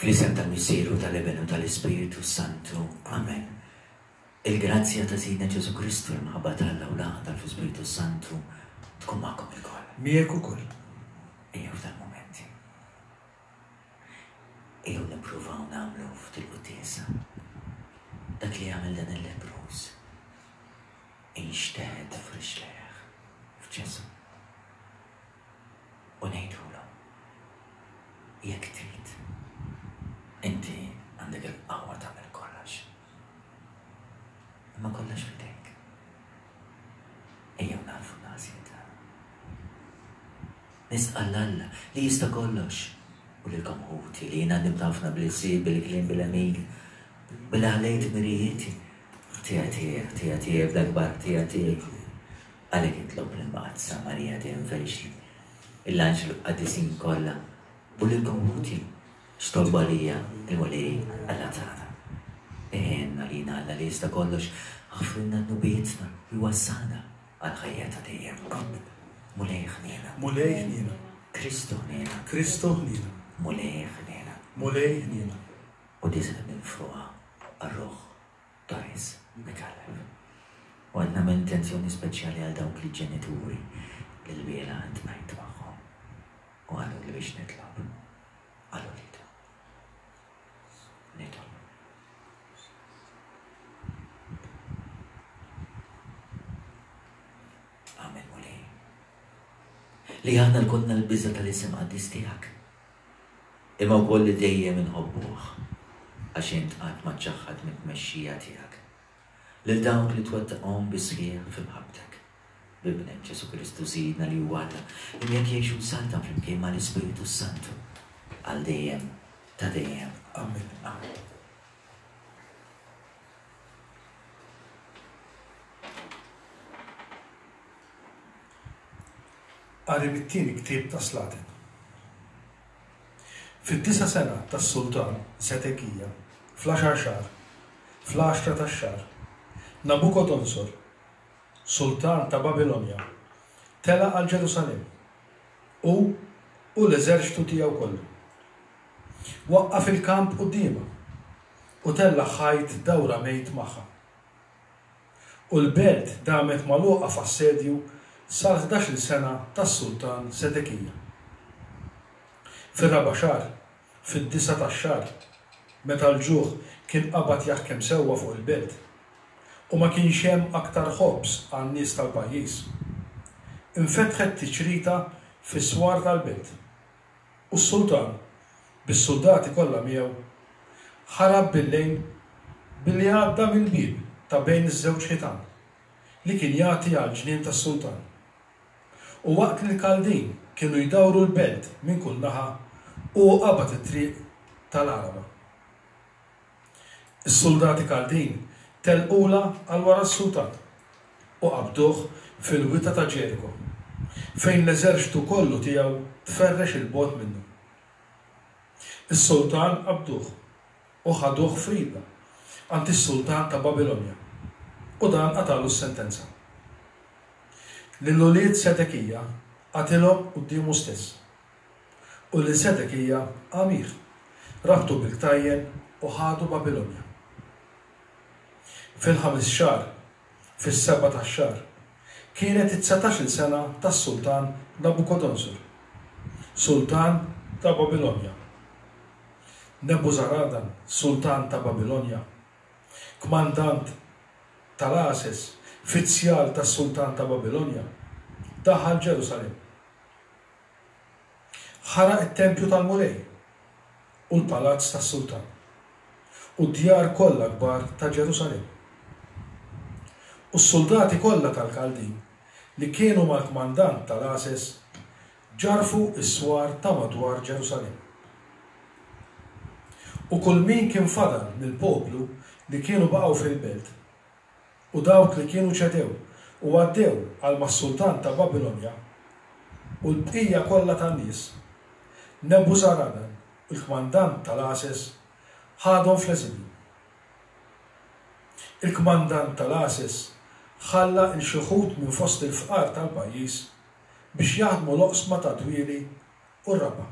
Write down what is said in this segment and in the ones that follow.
Fl-isem tal-Missier u tal-Iben u tal-Ispirtu s-Santu. Amen. Il-grazzja ta' Sidna Ġesù Kristu, l-imħabba t'Alla u l-għaqda fl-Ispirtu s-Santu tkun magħkom ilkoll. Miegħek ukoll. Ejjew f'dal-mument. Ejjew nippruvaw nagħmlu f'dil-quddiesa dak li għamel dan il-lebbruż. Inxteħet f'riġlejh f'Ġesù. U ngħidulu, jekk trid, inti għandek il-qawwa tagħmel kollox. Imma kollox f'idejk. Ejjew nagħrfu l-għażliet tagħna. Nistqarr 'l Alla li jista' kollox u lilkom ħuti li jiena ndimtu ħafna bl-ilsien, bil-kliem, bil-għemil, billi ħallejt mirijieti. Ħtija tiegħi, ħtija tiegħi, bl-akbar ħtija tiegħi. Għalhekk nitlob lill-Mqaddsa Marija dejjem Verġni, lill-anġli u l-qaddisin kollha u lilkom ħuti x'tolbu għalija l-Mulej Alla tagħna. Għinna lina Alla li jista' kollox, aħfrilna dnubietna u jwassalna għall-ħajja ta' dejjem. Amen. Mulej ħniena. Mulej ħniena. Kristu ħniena. Kristu ħniena. Mulej ħniena. Mulej ħniena. U diżel minn fuqha għar-ruħ Doris Micallef. U qed nagħmel intenzjoni speċjali għal dawk il-ġenituri li lbieraħ iltqajt magħhom u qaluli biex nitlob għal uliedhom. Nitolbu. Amen Mulej. Li aħna lkollna l-biża' tal-isem qaddis tiegħek. Imma wkoll li dejjem inħobbuh għax int qatt ma ċċaħħad mit-tmexxija tiegħek lil dawk li twettaqhom bis-sħiħ fi mħabbtek. B'Ibnek Ġesù Kristu Sidna li huwa Alla, li miegħek jgħix u jsaltan flimkien mal-Ispirtu s-Santu għal dejjem ta' dejjem. Amen. Amen. Qari mit-tieni ktieb tas-Slaten. Fid-disa' sena tas-sultan Sedekija, fl-għaxar xahar, fl-għaxra tax-xahar, Nabukodonsor, sultan ta' Babilonja, tela' għal Ġerusalemm, hu u l-eżerċtu tiegħu kollu. Waqqaf il-kamp quddiemha u tella' ħajt dawramejt magħha. U l-belt damet magħluqa f'assedju sal-ħdax-il sena tas-sultan Sedekija. Fir-raba' xahar, fid-disa' tax-xahar, meta l-ġuħ kien qabad jaħkem sewwa fuq il-belt, u ma kienx hemm aktar ħobż għan-nies tal-pajjiż, infetħet tiċrita fis-swar tal-belt. U s-sultan, bis-suldati kollha miegħu, ħarab bil-lejl billi għadda mill-bieb ta' bejn iż-żewġ ħitan, li kien jagħti għall-ġnien tas-sultan. U waqt li l-Kaldin kienu jdawru l-belt minn kull naħa, hu qabad it-triq ta' l-Għaraba. Is-suldati Kaldin telqulha għal wara s-sultan u qabduh fil-wita ta' Ġeriko, fejn l-eżerċtu kollu tiegħu tferrex 'il bogħod minnu. Is-sultan qabduh u ħaduh f'Ribla, għand is-sultan ta' Babilonja, u dan qatagħlu s-sentenza. Lil ulied Sedekija qatilhom quddiemu stess. U lil Sedekija għamih, rabtu bil-ktajjen u ħadu Babilonja. Fil-ħames xahar, fis-seba' tax-xahar, kienet it-dsatax-il sena tas-sultan Nabukodonsor, sultan ta' Babilonja. Nebuzaradan, sultan ta' Babilonja, kmandant tal-għases, fizzjal tas-sultan ta' Babilonja, daħal Ġerusalemm. Ħaraq it-tempju tal-Mulej u l-palazz tas-sultan, u d-djar kollha kbar ta' Ġerusalemm. U s-suldati kollha tal-Kaldin li kienu mal-kmandant tal-għases ġarrfu s-swar ta' madwar Ġerusalemm. U kull min kien fadal mill-poplu li kienu baqgħu fil-belt, U dawk li kienu ċedew u għaddew għal mas-sultan ta' Babilonja, u l-bqija kollha tan-nies, Nebuzaradan, il-kmandant tal-għases, ħadhom fl-eżilju. Il-kmandant tal-għases ħalla 'l xi wħud minn fost il-fqar tal-pajjiż biex jaħdmu l-oqsma tad-dwieli u r-raba'.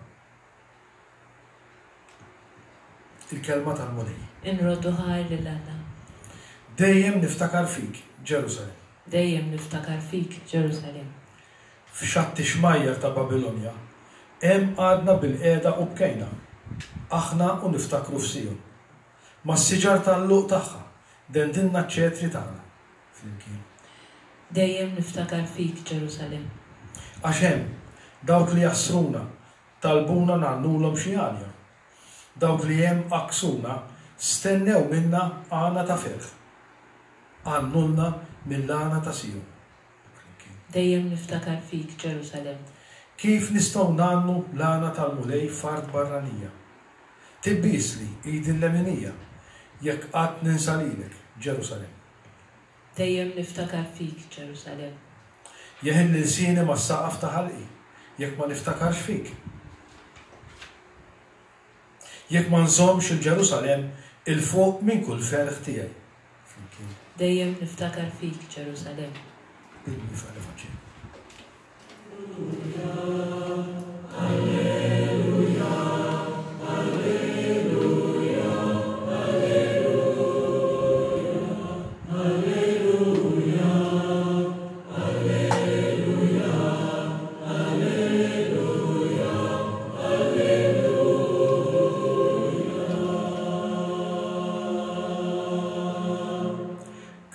Il-Kelma tal-Mulej. Inroddu ħajr lil Alla. Dejjem niftakar fik, Ġerusalemm. Dejjem niftakar fik, Ġerusalemm. F'xatt ix-xmajjar ta' Babilonja, hemm qgħadna bilqiegħda u bkejna, aħna u niftakru f'Sijon. Mas-siġar tal-għluq tagħha, dendilna ċ-ċetri tagħna flimkien. Dejjem niftakar fik, Ġerusalemm. Għax hemm, dawk li jaħsruna talbuna ngħannulhom xi għanja. Dawk li hemm għakksuna stennew minna għana ta' ferħ. Għannulna mill-għana ta' Sijon. Flimkien. Dejjem niftakar fik, Ġerusalemm. Kif nistgħu ngħannu l-għana tal-Mulej f'art barranija? Tibbiesli idi l-leminija jekk qatt ninsa lilek, Ġerusalemm. Dejjem niftakar fik, Ġerusalemm. Jeħilli lsieni mas-saqaf ta' ħalqi jekk ma niftakarx fik. Jekk ma nżommx 'il Ġerusalemm 'il fuq minn kull ferħ tiegħi. Flimkien. Dejjem niftakar fik, Ġerusalemm. Bil-wieqfa l-Evanġelju.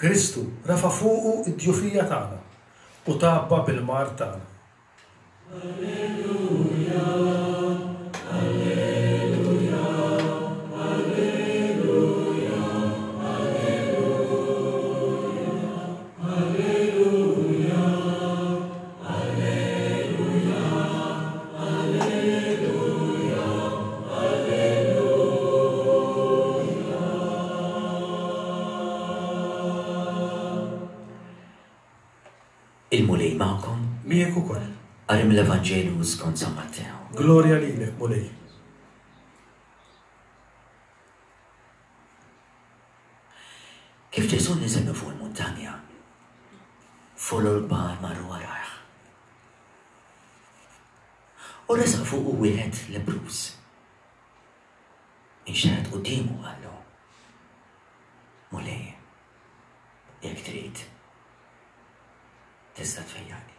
Kristu rafa' fuqu d-djufija tagħna u tgħabba bil-mard tagħna. Il-Mulej magħkom. Miegħek ukoll. Qari mill-Evanġelju skont San Mattew. Glorja lilek, Mulej. Kif Ġesù niżel minn fuq il-muntanja, folol kbar marru warajh. U resaq fuqu wieħed lebbruż. Inxteħet quddiemu u qallu, Mulej, jekk trid, tista' tfejjaqni.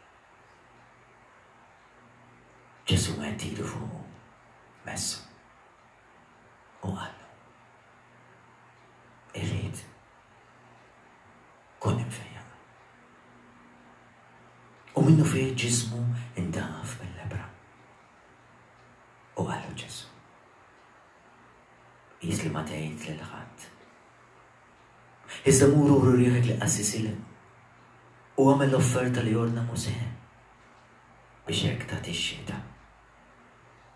Ġesù medd idu fuqu, messu u qallu, Irrid, kun imfejjaq. U minnufih ġismu ndaf mill-lebbra. U qallu Ġesù, Qis li ma tgħid lil ħadd. Iżda mur uri rieħek lill-qassisil u agħmel l-offerta li ordna Mosè biex hekk tagħti x-xhieda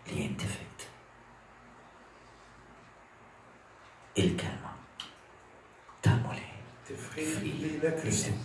li inti fitt. Il-kelma tal-Mulej. Tifħir lilek Kristu.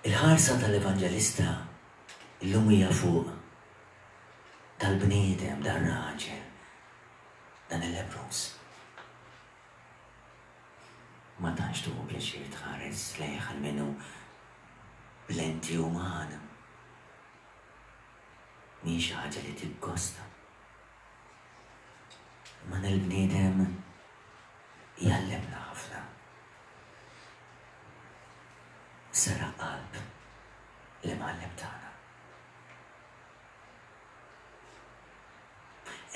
Il-ħarsa tal-Evanġelista llum hija fuq. Dal-bniedem, dar-raġel, dan il-lebbruż. Ma tantx tieħu pjaċir tħares lejh almenu b'lenti umana. Mhix xi ħaġa li tiggosta. Imma dan il-bniedem jgħallimna ħafna. Seraq qalb l-Imgħallem tagħna.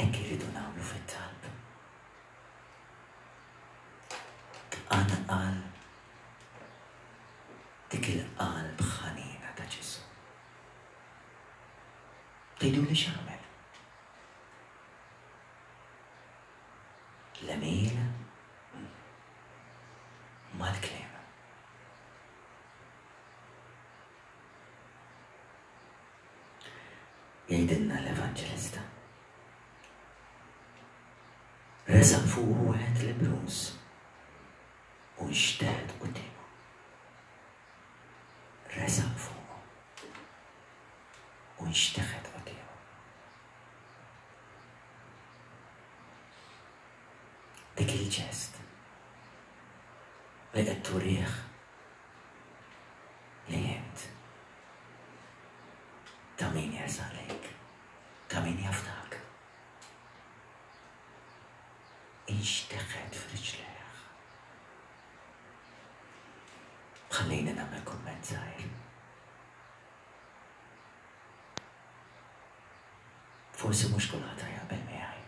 Hekk irridu nagħmlu fit-talb. Tqanqal dik il-qalb ħanina ta' Ġesù. Tgħiduli x'għamel? L-għemil mal-kliem. Jgħidilna l-Evanġelista. Resaq fuqu wieħed lebbruż u nxteħet quddiemu. Resaq fuqu u nxteħet quddiemu. Dik il-ġest li qed turih li int ta' min jersaq lejk, ta' min jafdak. Inxteħet f'riġlejh. Ħallini nagħmel kumment żgħir. Forsi mhux kulħadd jaqbel miegħi.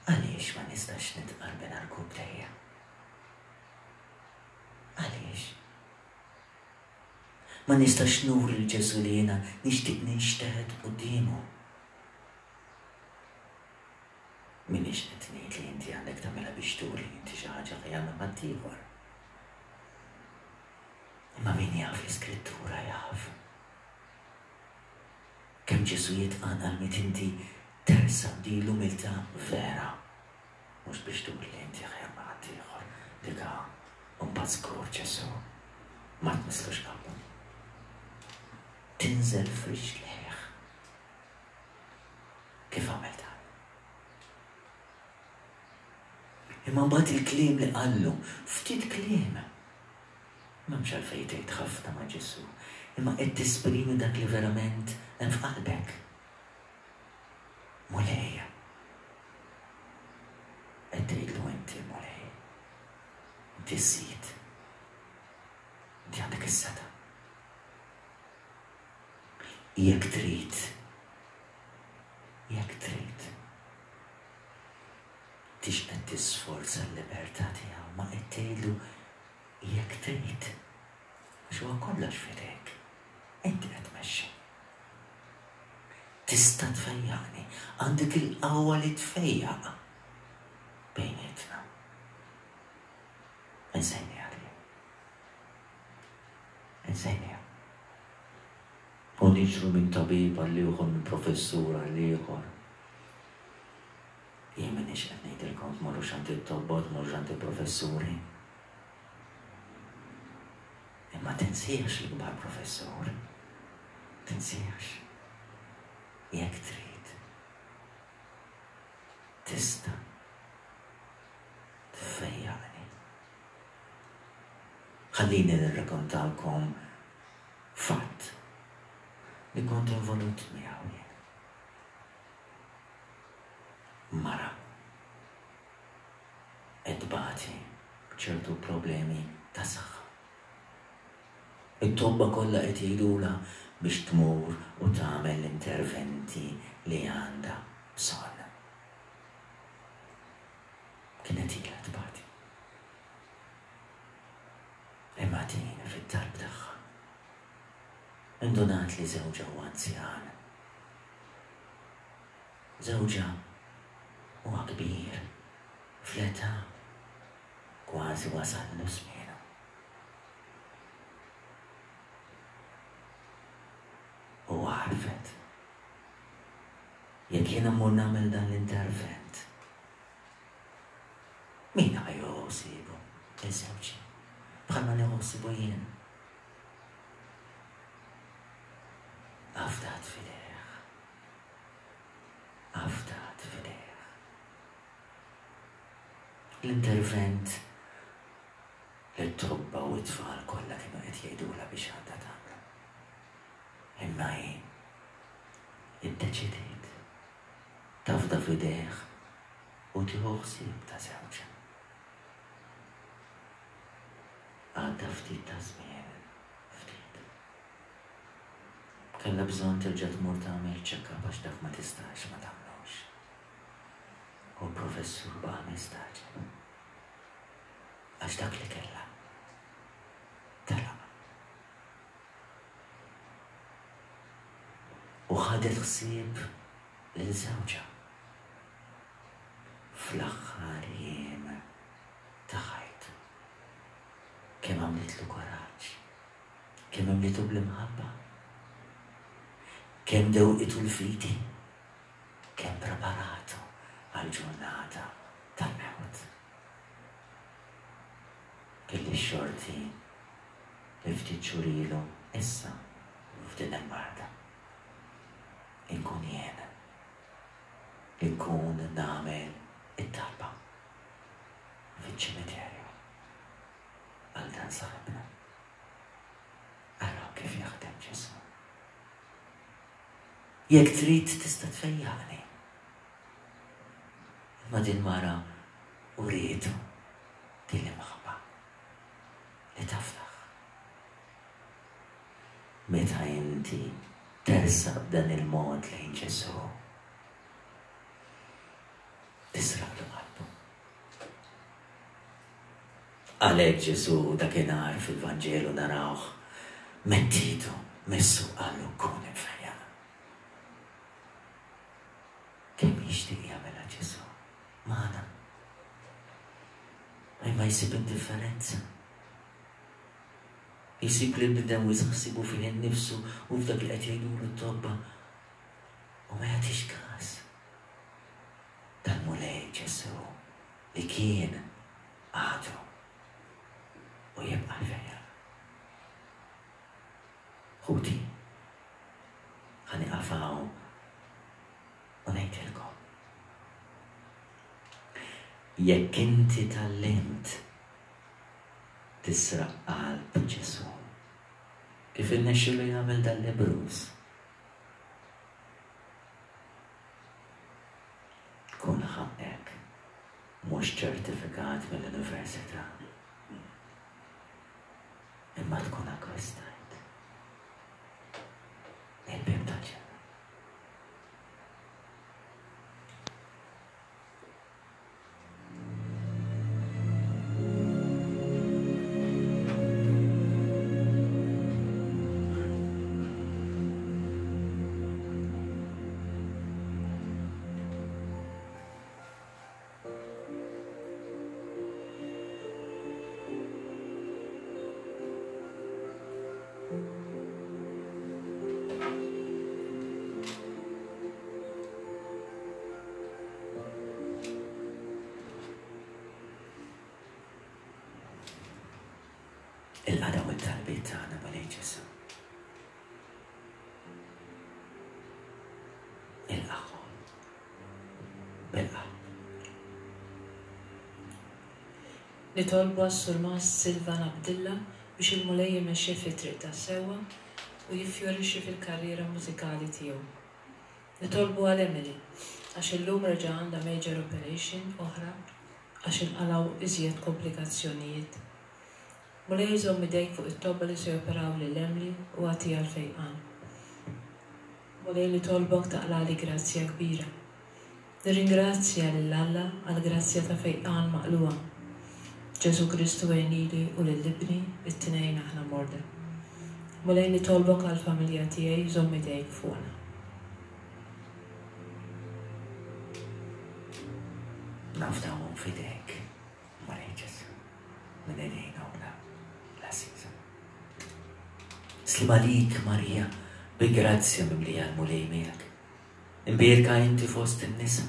Għaliex ma nistax nitqarben għarkubbtejja? Għaliex? Ma nistax nuri 'l Ġesù li jiena nixtieq ninxteħet quddiemu? M'iniex qed ngħid li inti għandek tagħmilha biex turi li inti xi ħaġa aħjar minn ħaddieħor. Imma min jaf l-Iskrittura jaf. Kemm Ġesù jitqanqal meta inti tersaq b'din l-umiltà vera. Mhux biex turi li inti aħjar minn ħaddieħor, dika mbagħad żgur Ġesù ma tmisslux qalbu. Tinżel f'riġlejh. Kif għamel dan? Imma mbagħad il-kliem li qallu, ftit kliem. M'hemmx għalfejn tgħid ħafna ma' Ġesù, imma qed tesprimi dak li verament hemm f'qalbek. Mulej. Qed tgħidlu inti, Mulej. Inti s-Sid. Inti għandek is-setgħa. Jekk trid. Jekk trid. Tix qed tisforza l-libertà tiegħu, ma qed tgħidlu jekk trid. Għax huwa kollox f'idejk. Inti qed tmexxi. Tista' tfejjaqni. Għandek il-qawwa li tfejjaq bejnietna. Insejniha din. Insejniha. U niġru minn tabib għal ieħor, minn professur għal ieħor. Jien m'iniex qed ngħidilkom tmorrux għand it-tobba u tmorrux għand il-professuri. Imma tinsiex l-ikbar professur. Tinsiex. Jekk trid. Tista' tfejjaqni. Ħallini nirrakontalkom fatt li kont involut miegħu jien. Mara qed tbati b'ċertu problemi ta' saħħa. It-tobba kollha qed jgħidulha biex tmur u tagħmel l-interventi li għandha bżonn. Kienet ilha tbati. Imma din fit-talb tagħha indunat li żewġha huwa anzjan. Żewġha huwa kbir fl-età, kważi wasallu żmienu. U għarfet. Jekk jiena mmur nagħmel dan l-intervent, min ħa jieħu ħsiebu? Iż-żewġi. Bħalma nieħu ħsiebu jien. Afdat f'idejh. Afdat f'idejh. L-intervent li t-tobba u t-tfal kollha kienu qed jgħidulha biex għandha tagħmlu. Imma hi iddeċidiet tafda f'idejh u tieħu ħsieb ta' żewġha. Għadda ftit ta' żmien, ftit. Kellha bżonn terġa' tmur tagħmel check-up għax dak ma tistax ma tagħmlux. U l-professur baqa' mistagħġeb. Għax dak li kellha telaq. U ħadet ħsieb lil żewġha fl-aħħar jiem ta' ħajtu. Kemm għamlitlu kuraġġ, kemm imlietu bl-imħabba, kemm dewqitu l-fidi, kemm preparatu għall-ġurnata tal-mewt. Kelli x-xorti li ftit xhur ilu issa f'din il-marda inkun jien li nkun nagħmel it-talba fiċ-ċimiterju għal dan saħibna. Araw kif jaħdem Ġesù. Jekk trid tista' tfejjaqni. Imma din mara urietu din l-imħabba li tafdaħ. Meta inti tersaq b'dan il-mod lejn Ġesù, tisraqlu qalbu. Għalhekk Ġesù dakinhar fil-Vanġelu narawh medd idu, messu qallu kun imfejjaq. Kemm jixtieq jagħmilha Ġesù magħna. Imma jsib indifferenza. Jsib li l-bniedem wisq ħsiebu fih innifsu u f'dak li qed jgħidulu t-tobba u ma jagħtix każ tal-Mulej Ġesù li kien, għadu u jibqa' l-fejjaq. Ħuti, ħa nieqaf hawn u ngħidilkom. Jekk inti tgħallimt tisraq qalb Ġesù, kif irnexxielu jagħmel dal-lebbruż, kun ħaqqek mhux ċertifikat mill-università, imma tkun akkwistajt il-bieb tal-ġenna. Ilqa' dawn it-talbiet tagħna Mulej Ġesù. Ilqagħhom bil-qalb. Nitolbu għas-Surmast Silvan Abdilla biex il-Mulej imexxih fit-triq tas-sewwa u jiffjorixxi fil-karriera mużikali tiegħu. Nitolbu għal Emily, għax illum reġa' għandha major operation oħra għax inqalgħu iżjed komplikazzjonijiet. Mulej żomm idejk fuq it-tobba li se joperaw lil Emly u agħtiha l-fejqan. Mulej nitolbok taqlagħli grazzja kbira. Nirringrazzja lil Alla għall-grazzja ta' fejqan maqlugħa. Ġesù Kristu għin lili u lil ibni, it-tnejn aħna morda. Mulej nitolbok għall-familja tiegħi żomm idejk fuqna. Nafdawhom f'idejk, Mulej Ġesù, minn idejn ommna l-għażiża. Sliem għalik, Marija, bi grazzja mimlija l-Mulej miegħek. Imbierka inti fost in-nisa.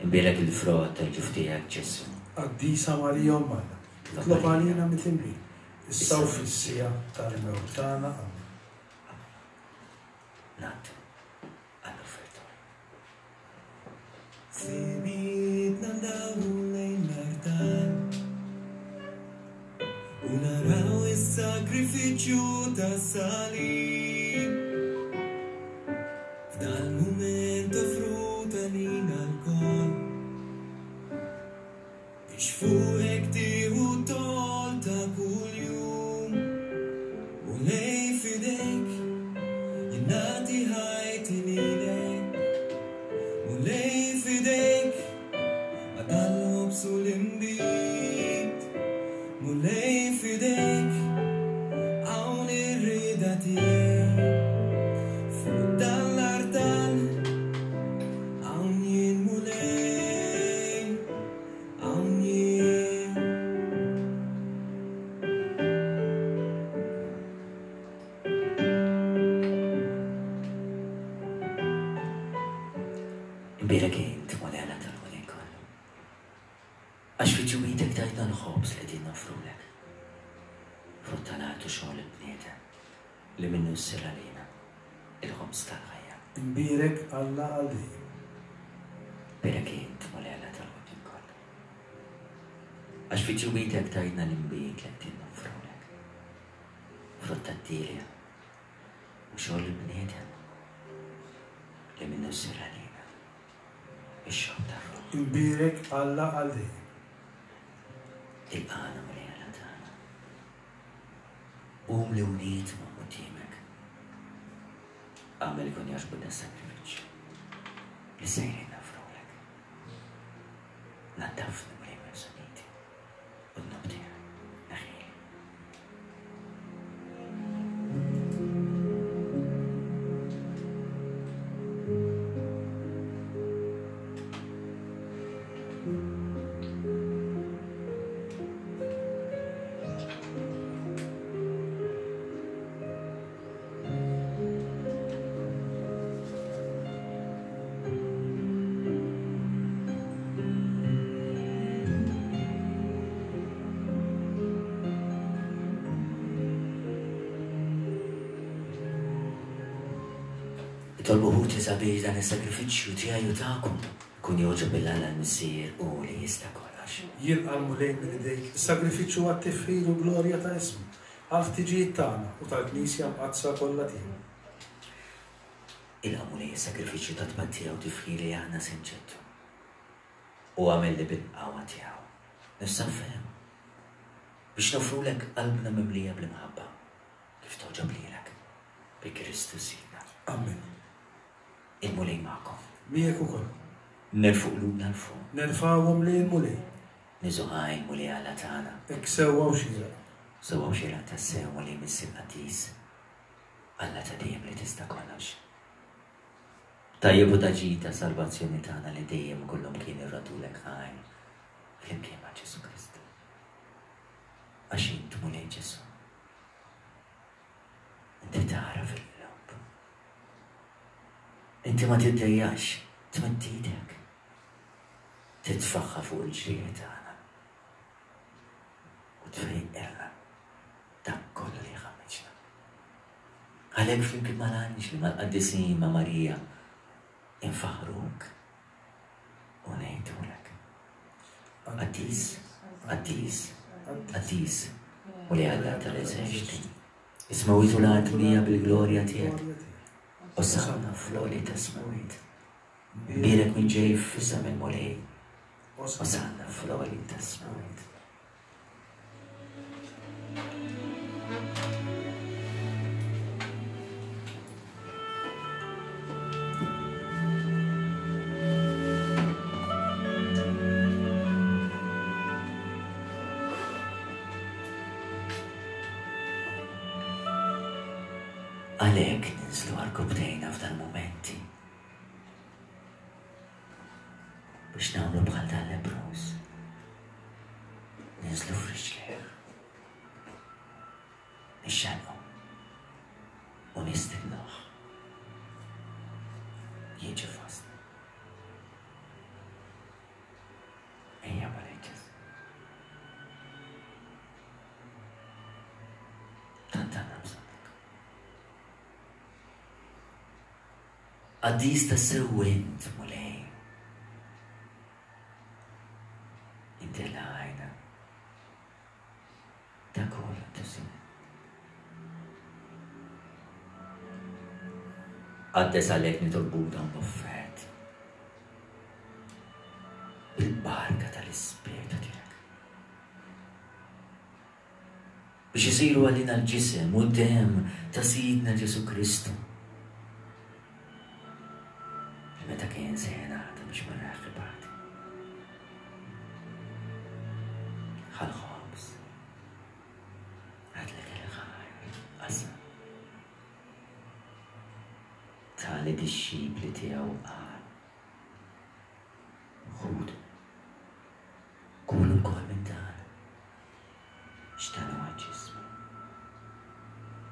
Imbierek il-frott tal-ġuf tiegħek, Ġesù. Qaddisa Marija Omm Alla, itlob għalina midinbin, issa u fis-siegħa tal-mewt tagħna. Amen. Amen. Ngħaddu. Sagrifiċċju tas-salib. F'dal-mument offrut għalina lkoll. Biex fuqek tieħu t-toll ta' kuljum. Mulej f'idejk jien nagħti ħajti lilek. Mulej f'idejk għadha l-ħobż u l-inbid. Mulej f'idejk hawn ir-rieda tiegħi. Fuq dan l-artal hawn jien Mulej, hawn jien. Imbierek int, Mulej Alla tal-ħolqien kollu. Għax fi ġwidek tajtna l-ħobż li qegħdin noffrulek, frott tal-art u xogħol il-bniedem, li minnu ssir għalina il-ħobż tal-ħajja. Imbierek Alla għal dejjem. Imbierek int, Mulej Alla tal-ħolqien kollu. Għax fi ġwidek tajtna l-inbid li qegħdin noffrulek, frott tad-dielja u xogħol il-bniedem, li minnu ssir għalina ix-xorb tar-ruħ. Imbierek Alla għal dejjem. Ilqagħna Mulej Alla tagħna. Qum li wlied ma' quddiemek. Agħmel ikun jogħġbu das-sagrifiċċju li sejrin nofrulek. Naddafni Mulej minn bżonniti u d-dnub tiegħi neħħili. Itolbu ħuti sabiex dan is-sagrifiċċju tiegħi u tagħkom ikun jogħġob lil Alla l-Missier hu li jista' kollox. Jilqa' l-Mulej minn idejk is-sagrifiċċju għat-tifħir u l-glorja ta' ismu, għall-ħtiġijiet tagħna u tal-Knisja mqaddsa kollha tiegħu. Ilqa' Mulej is-sagrifiċċju ta' tpattija u tifħir li aħna se nġeddu. U agħmel li bil-qawwa tiegħu nissaffew biex noffrulek qalbna mimlija bl-imħabba kif togħġob lilek, bi Kristu Sidna. Amen. Il-Mulej magħkom. Miegħek ukoll. Nerfgħu qlubna 'l fuq. Nerfgħuhom lejn il-Mulej. Niżgħu ħaj il-Mulej Alla tagħna. Hekk sewwa u xieraq. Sewwa u xieraq tassew, Mulej Missier Qaddis, Alla ta' dejjem li tista' kollox. Tajjeb u ta' ġid ta' salvazzjoni tagħna li dejjem u kullumkien irroddulek ħajr flimkien ma' Ġesù Kristu. Għax int, Mulej Ġesù, inti tara fil-qlub. Inti ma tiddejjax tmidd idek, titfaħħa fuq il-ġrieħi tagħna u tfejqilna dak kollu li jħammiġna. Għalhekk flimkien mal-anġli, mal-qaddisin, ma' Marija, infaħħruk u ngħidulek. Qaddis, qaddis, qaddis, Mulej Alla tal-eżerċti. Is-smewwiet u l-art mlija bil-glorja tiegħek. Osanna fl-għoli tas-smewwiet. Bierek min ġej f'isem il-Mulej. Osanna fl-għoli tas-smewwiet. Għalhekk ninżlu għarkupptejna f'dal-mumenti biex nagħmlu bħal dal-lebbruż. Ninżlu f'riġlejh. Nixxenqu u nistidnuh jiġi fostna. Ejja Mulej Ġesù. Tant għandna bżonnek. Qaddis tassew int, Mulej. Inti l-għajna ta' kull tisem. Qaddes għalhekk nitolbuk dawn l-offerti bil-barka tal-Ispirtu tiegħek. Biex isiru għalina l-ġisem u d-demm ta' Sidna Ġesù Kristu. Li meta kien se jingħata biex ma ibati. Ħal-ħobż. Għadlek il-ħajr, qasam. Ta lid-dixxipli tiegħu qal, Ħudu, kulu lkoll minn dan, għax dan huwa ġismi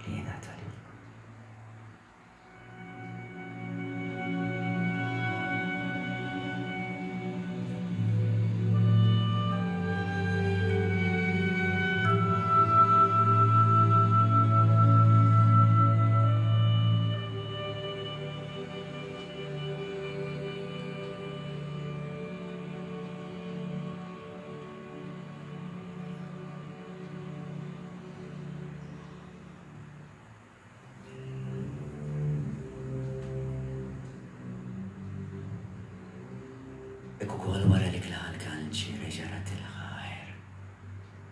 li jingħata lilkom. Hekk ukoll wara li kla l-kalċi reġa' radd il-ħajr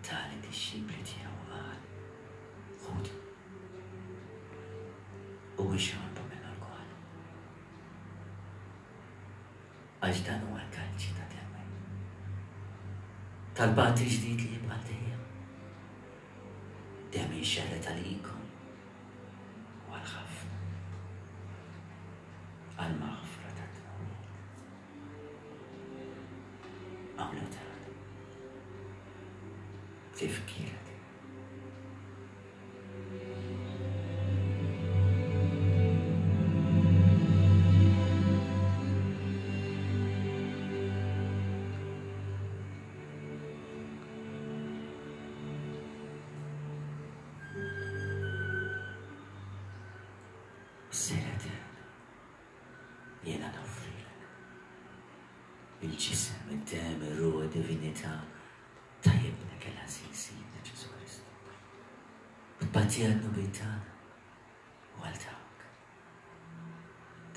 ta lid-dixxipli tiegħu u qal, Ħudu u ixorbu minnu lkoll, għax dan huwa l-kalċi ta' demmi, tal-patt il-ġdid li jibqa' għal dejjem. Demmi jxerred għalikom u għal ħafna għall-maħfra tad-dnubiet. Agħmlu dan b'tifkira tiegħi. Missier Etern, jiena noffrilek il-ġisem, id-demm, ir-ruħ, id-divinità ta' Ibnek il-għażiż Sidna Ġesù Kristu. U tbatija d-dnubiet tagħna u għal dawk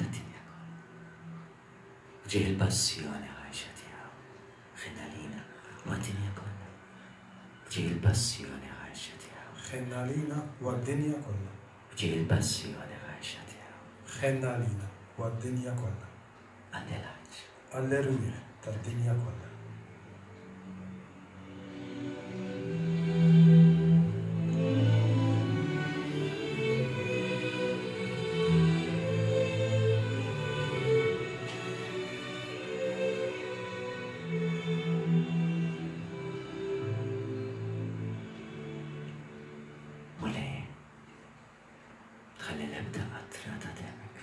tad-dinja kollha. F'ġieħ il-passjoni ħarxa tiegħu, ħenn għalina u għad-dinja kollha. F'ġieħ il-passjoni ħarxa tiegħu. Ħenn għalina u għad-dinja kollha. F'ġieħ il-passjoni ħarxa tiegħu. Ħenn għalina u għad-dinja kollha. Għall-għaġ. Għall-erwieħ tad-dinja kollha. Mulej, tħalli l-ebda qatra ta' demmek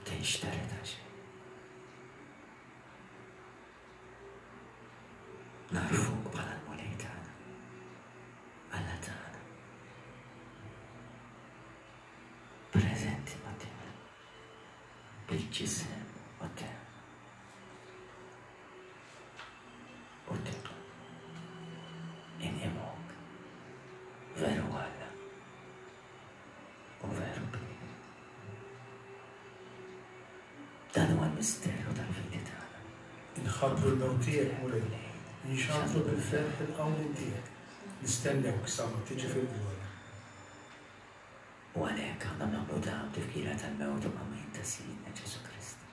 tinxtered għal xejn. Nagħrfuk bħala l-Mulej tagħna, Alla tagħna. Preżenti qudiemna bil-ġisem u d-demm. U d-demm. Inqimuk veru Alla u veru bniedem. Dan huwa l-misteru tal-fidi tagħna. Inħabbru l-mewt tiegħek, Mulej, inxandru bil-ferħ il-qawmien tiegħek, nistennewk sa ma tiġi fil-glorja. U għalhekk aħna nagħmlu dan b'tifkira tal-mewt u qawmien ta' Sidna Ġesù Kristu.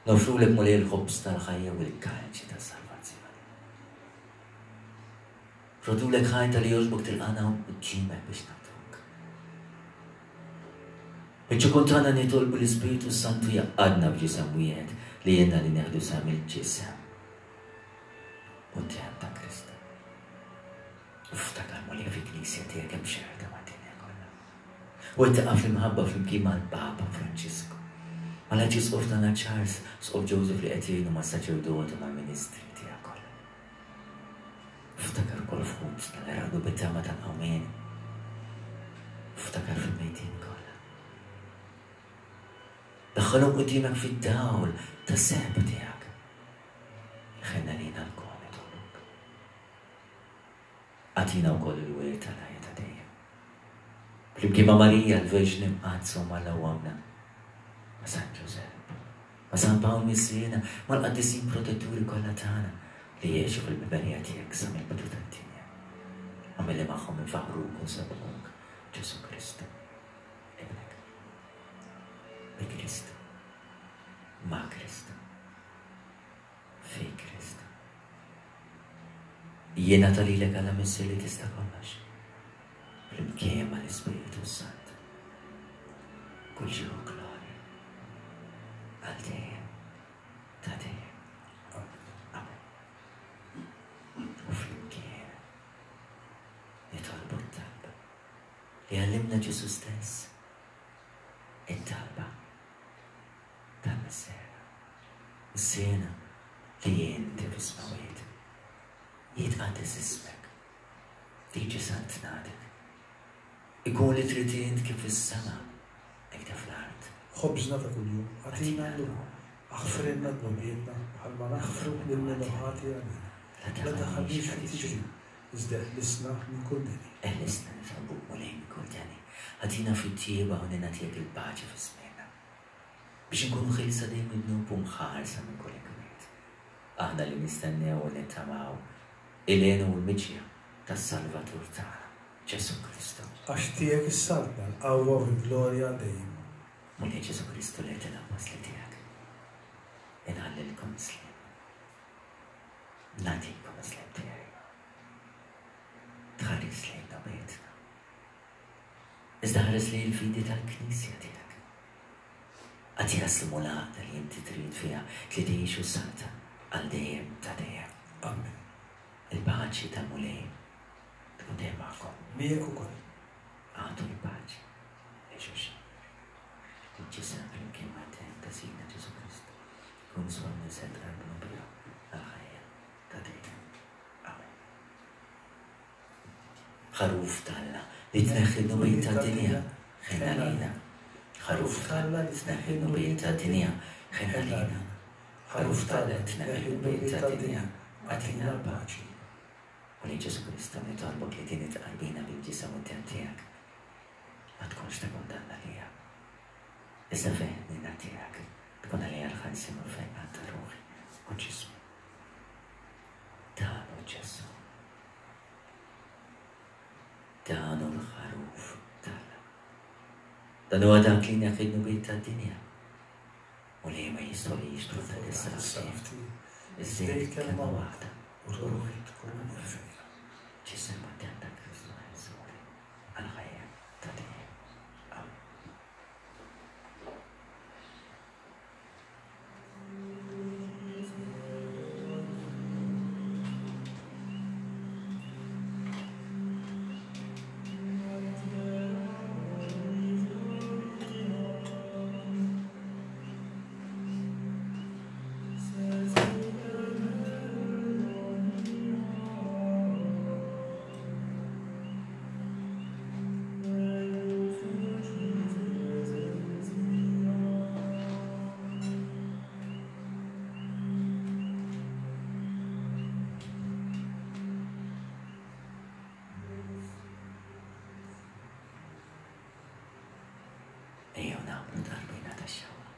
Noffrulek Mulej il-ħobż tal-ħajja u l-kalċi tas-salvazzjoni. Rodulek ħajr talli jogħġbok tilqagħna hawn quddiemek biex naqduk. Biċ-ċokon tagħna nitolbu l-Ispirtu s-Santu jgħaqqadna f'ġisem wieħed li jgħinna li neħdu sehem il-ġisem u d-demm ta' Kristu. Ftakar Mulej fil-Knisja tiegħek hemm xerda mad-dinja kollha. U wettaqha fl-imħabba flimkien mal-Papa Franġisku, mal-Arċisqof tagħna Charles, Sqof Joseph li qed jgħinu mas-saċerdoti u mal-ministri tiegħek kollha. Ftakar ukoll f'ħutna li raqdu bit-tama tal-qawmien. Ftakar fil-mejtin kollha. Daħħalhom quddiemek fid-dawl tas-sehba tiegħek. Ħenn għalina lkoll nitolbuk. Agħtina wkoll il-wirt tal-ħajja ta' dejjem. Flimkien ma' Marija l-Verġni Mqaddsa u mal Ommna, ma' San Ġużepp, ma' San Pawl Missierna, mal-qaddisin protetturi kollha tagħna li għexu fil-biberija tiegħek sa mill-bidu tad-dinja. Agħmel li magħhom infaħħruk u nsebbħuk, Ġesù Kristu, Ibnek. Bi Kristu, ma' Kristu, fi Kristu. Jingħata lilek Alla Missier li tista' kollox, flimkien mal-Ispirtu s-Santu, kull ġieħ u glorja għal dejjem ta' dejjem. Amen. U flimkien nitolbu t-talba li għallimna Ġesù stess, it-talba tal-Missierna. Missierna li inti fis-smewwiet, jitqaddes ismek, tiġi saltnatek, ikun li trid int kif fis-sema, hekk ta' fl-art. Ħobżna ta' kuljum agħtina llum. Aħfrilna dnubietna bħalma naħfru lil min hu ħati għalina. La tdaħħalniex fit-tiġrib, iżda eħlisna minn kull deni. Eħlisna nitolbuk Mulej minn kull deni. Agħtina fit-tjieba u ningħatiek il-paċi fi żmienna. Biex inkunu ħielsa dejjem mid-dnub u mħarsa minn kull inkwiet. Aħna li nistennew u nittamaw il-hena u l-miġja tas-Salvatur tagħna, Ġesù Kristu. Għax tiegħek is-saltna, l-qawwa u l-glorja għal dejjem. Mulej Ġesù Kristu li għedt lill-appostli tiegħek, Inħallilkom is-sliem. Nagħtikom is-sliem tiegħi. Tħares lejn dnubietna. Iżda ħares lejn il-fidi tal-Knisja tiegħek. Agħtiha s-sliem u l-għaqda li inti trid fiha li tgħix u ssaltan għal dejjem ta' dejjem. Amen. Il-paċi tal-Mulej tkun dejjem magħkom. Miegħek ukoll. Agħtu l-paċi lil xulxin. Il-ġisem flimkien mad-demm ta' Sidna Ġesù Kristu jkun żgur li se tqarbnu biha għall-ħajja ta' dejjem. Amen. Ħaruf t'Alla li tneħħi d-dnubiet tad-dinja, ħenn għalina. Ħaruf t'Alla li tneħħi d-dnubiet tad-dinja, ħenn għalina. Ħaruf t'Alla li tneħħi d-dnubiet tad-dinja, agħtina l-paċi. Mulej Ġesù Kristu, nitolbok li din it-tqarbina bil-ġisem u d-demm tiegħek ma tkunx ta' kundanna għalija, iżda fil-ħniena tiegħek tkun għalija l-ħelsien u l-fejqan ta' ruħi u ġismi. Dan hu Ġesù. Dan hu l-Ħaruf t'Alla. Dan huwa dak li jneħħi d-dnubiet tad-dinja. U li ma jistgħolix tkun ta' dis-salfti. Iżżejjed kelma waħda u ruħi tkun mfejqa. Ġisem u d-demm ta' Kristu ħelsuni għall-ħajja ta' dejjem. Amen. Ejjew nagħmlu tqarbina tax-xewqa.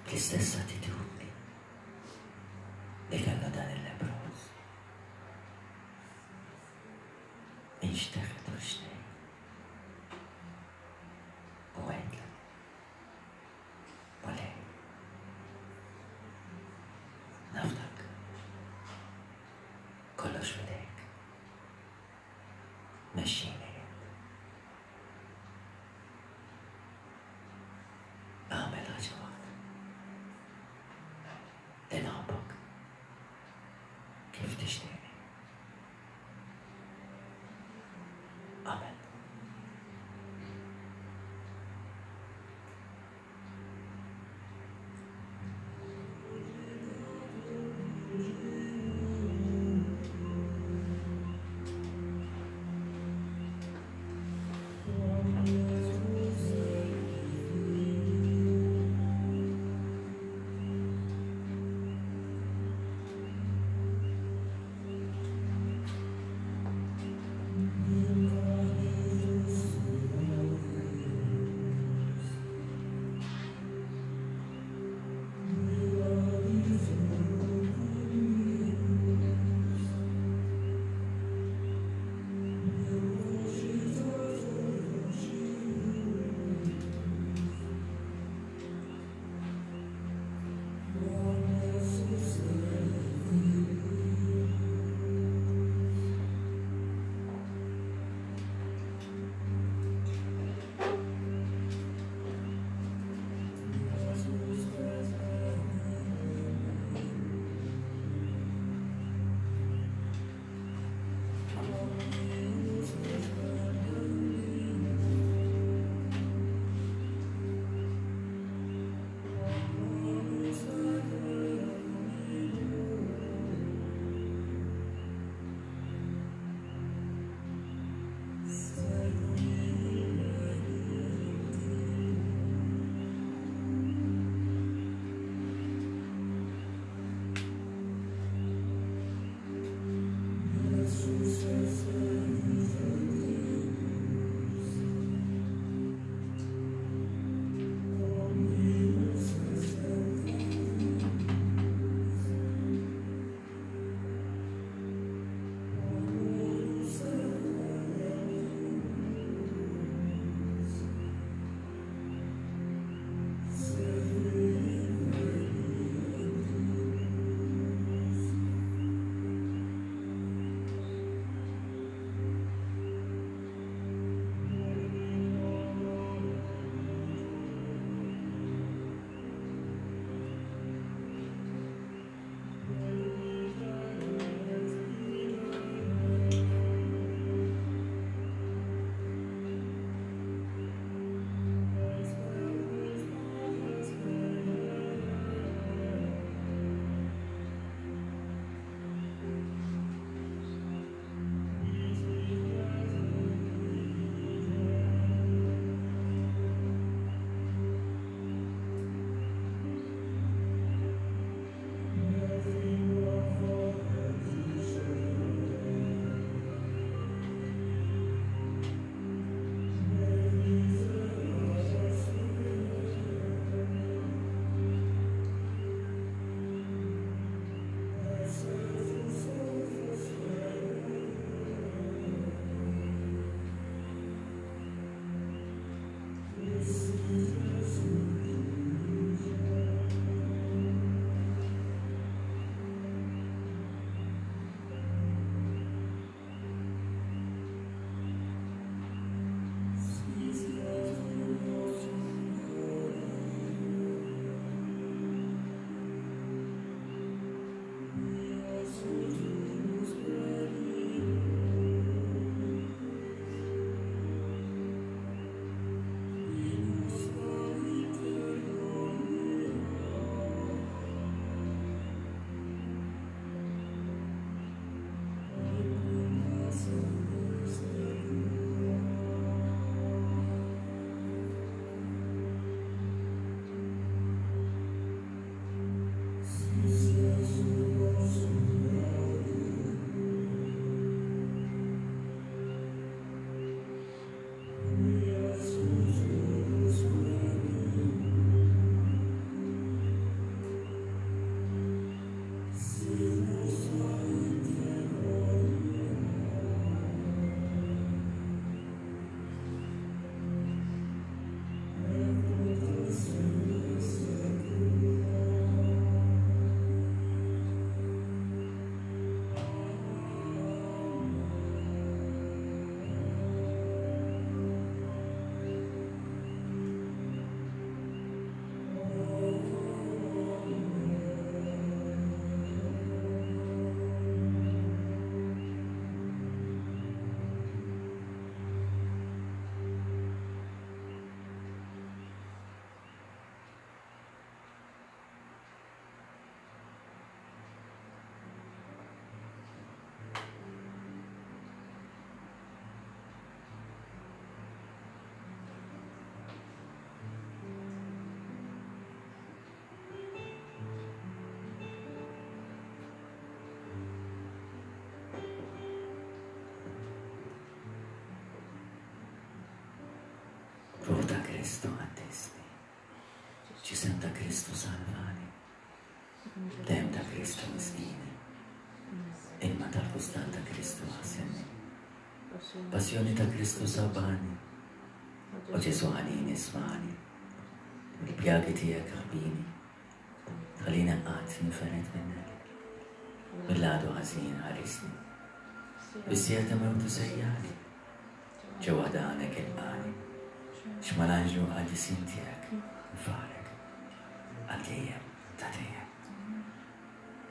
Bl-istess attitudni li kellha dan il-leproż. Inxteħet u xtejn. U għedlu. Mulej. Nafdak. Kollox f'idejk. Mexxini int. Agħmel ħaġa waħda. Li nħobbok. Kif tixtieqni. Amen. Kristu qaddisni. Ġisem ta' Kristu salvani. Demm ta' Kristu isqini. Ilma tal-kustat ta' Kristu aħsilni. Passjoni ta' Kristu sabbarni. O Ġesù ħanin ismagħni. Mill-pjagi tiegħek aħbini. Tħallini qatt ninfered minnek. Mill-għadu ħażin ħarisni. Bis-siegħa ta' mewti sejjaħli. Ġewwa danek ilqagħni. X'mal-anġli u qaddisin tiegħek nfaħrek għal dejjem ta' dejjem.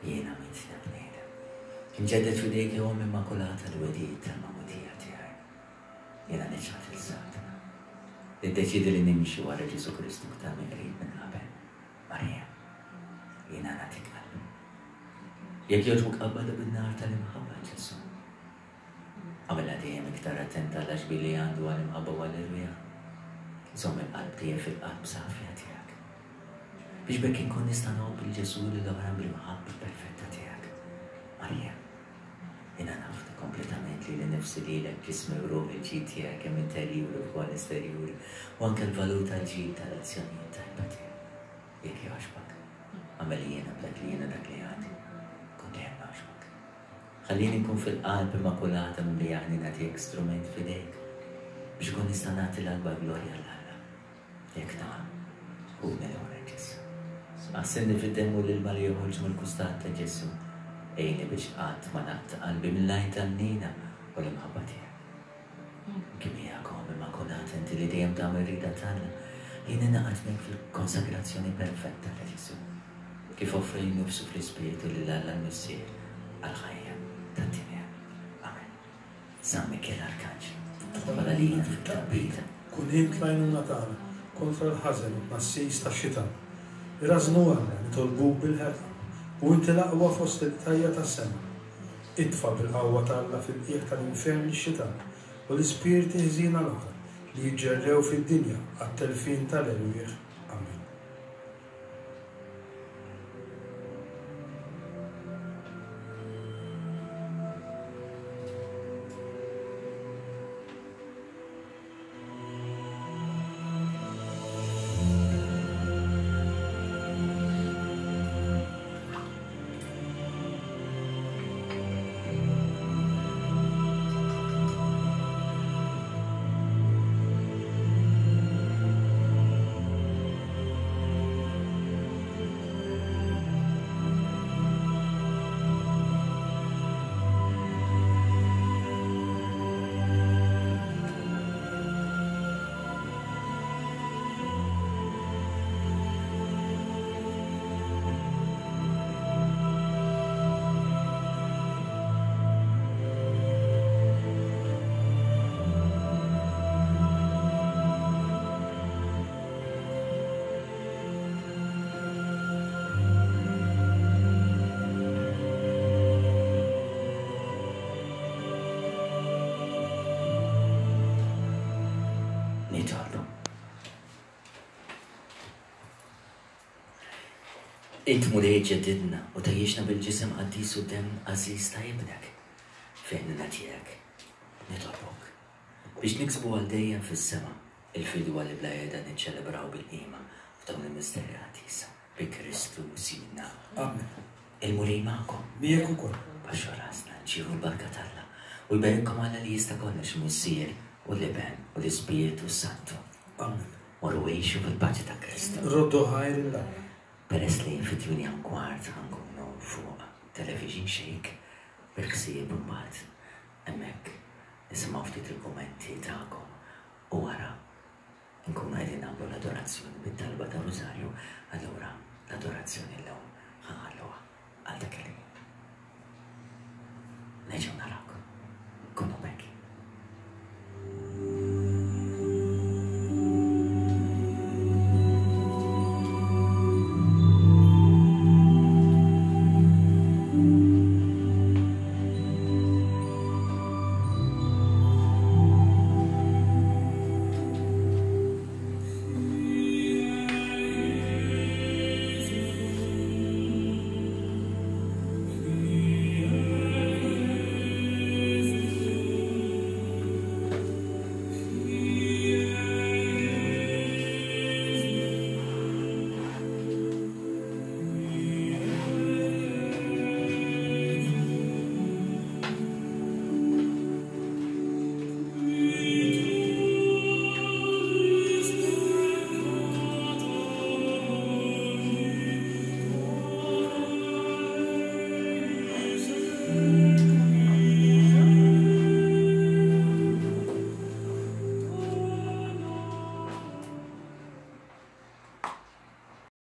Jiena midneb bniedem. Inġedded f'idejk ja Omm Immakulata l-wegħdiet tal-magħmudija tiegħi. Jiena niċħad lil Satana. Niddeċiedi li nimxi wara Ġesù Kristu iktar mill-qrib minn qabel. Marija, jiena nagħtik qalbi. Jekk jogħġbok qabbadha bin-nar tal-imħabba Ġesù. Agħmilha dejjem iktar attenta għall-għaxbien li għandu għall-imħabba u għall-irwieħ. Żomm il-qalb tiegħi fil-qalb safja tiegħek. Biex b'hekk inkun nista' ngħobb lil Ġesù u lil oħrajn bl-imħabba perfetta tiegħek. Marija, jiena nafda kompletament lili nnifsi lilek, ġismi u ruħi, l-ġid tiegħi kemm interjuri u wkoll esterjuri, u anke l-valur tal-ġid tal-azzjonijiet tajba tiegħi. Jekk jogħġbok, agħmel jiena b'dak li jiena dak li għandi. Kun dejjem nogħġbok. Ħallini nkun fil-qalb immakulata mimlija ħniena tiegħek strument f'idejk biex inkun nista' nagħti l-akbar glorja 'l Alla. Jekk nagħmel, ħudni lura Ġesù. Aħsilni fid-demm u l-ilma li joħorġ mill-kustat ta' Ġesù. Għinni biex qatt ma naqta' qalbi mill-għajn tal-ħniena u l-imħabba tiegħek. Kemm miegħek Omm Immakulata inti li dejjem tagħmel ir-rieda t'Alla, jien ningħaqad miegħek fil-konsagrazzjoni perfetta ta' Ġesù, kif offra lilu nnifsu fl-Ispirtu lil Alla l-Missier għall-ħajja tad-dinja. Amen. San Mikiel Arkanġlu, idħol għalina fit-taqbida. Kun int l-għajnuna tagħna kontra l-ħażen u t-tnassis tax-xitan. Irażżnu Alla, nitolbuk bil-ħerqa, u inti l-aqwa fost il-qtajja' tas-sema. Itfa' bil-qawwa ta' Alla fil-qiegħ tal-infern lix-xitan u l-ispirti ħżiena l-oħra li jiġġerrew fid-dinja għat-telfien tal-erwieħ. Amen. Nitolbu. Int Mulej ġeddidna u tgħajjixna bil-ġisem qaddis u d-demm għażiż ta' Ibnek. Fil-ħniena tiegħek nitolbuk biex niksbu għal dejjem fis-sema il-fidwa li bla qiegħda niċċelebraw bil-qima f'dawn il-misteri qaddisa. Bi Kristu Sidna. Amen. Il-Mulej magħkom. Miegħek ukoll. Baxxu rasna, nċievu l-barka t'Alla. U jberikkom Alla li jista' kollox, il-Missier u l-Iben u l-Ispirtu s-Santu. Amen. Morru għixu fil-paċi ta' Kristu. Roddu ħajr lil Alla. Peress li fit-tmienja u kwart ħa nkunu fuq Television Shake bil-ħsieb imbagħad hemmhekk nisimgħu ftit il-kummenti tagħkom u wara Nkunu qegħdin nagħmlu l-adorazzjoni bit-talba tar-Rużarju, allura l-adorazzjoni llum ħa nħalluha għal dak il-ħin.